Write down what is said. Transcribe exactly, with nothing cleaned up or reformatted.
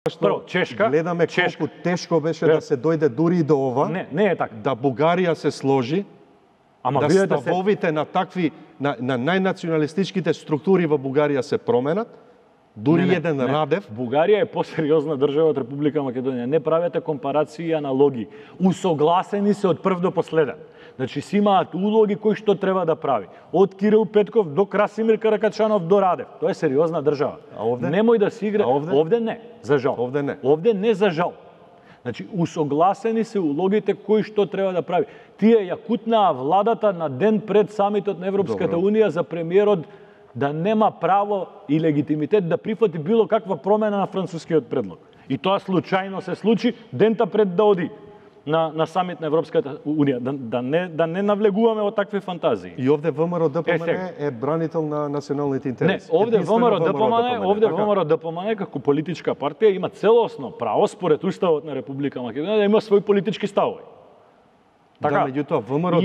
Прво, Чешка, гледаме Чешка. колку тешко беше да се дојде дури и до ова. Не, не е така. Да Бугарија се сложи, Ама да видете ставовите се... на такви на, на најнационалистичките структури во Бугарија се променат. Дури не, не, еден не. Радев. Бугарија е посериозна држава од Република Македонија. Не правете компарации и аналогии. Усогласени се од прв до последен. Значи си имаат улоги кои што треба да прави. Од Кирил Петков до Красимир Каракачанов до Радев. Тоа е сериозна држава. А овде? Немој да си игра. А овде? Овде не, за жал. Овде не. Овде не за жал. Значи усогласени се улогите кои што треба да прави. Тие ја кутнаа владата на ден пред самитот на Европската Добро. унија за премиерот да нема право и легитимитет да прифати било каква промена на францускиот предлог. И тоа случајно се случи дента пред да оди на на самит на Европската унија, да, да не да не навлегуваме во такви фантазии. И овде ВМРО ДПМН Е, е бранител на националните Не, интереси. овде Единствено ВМРО ДПМН, овде така? ВМРО ДПМН како политичка партија има целосно право според уставот на Република Македонија да има свој политички ставови. Да, Така. меѓутоа ВМРО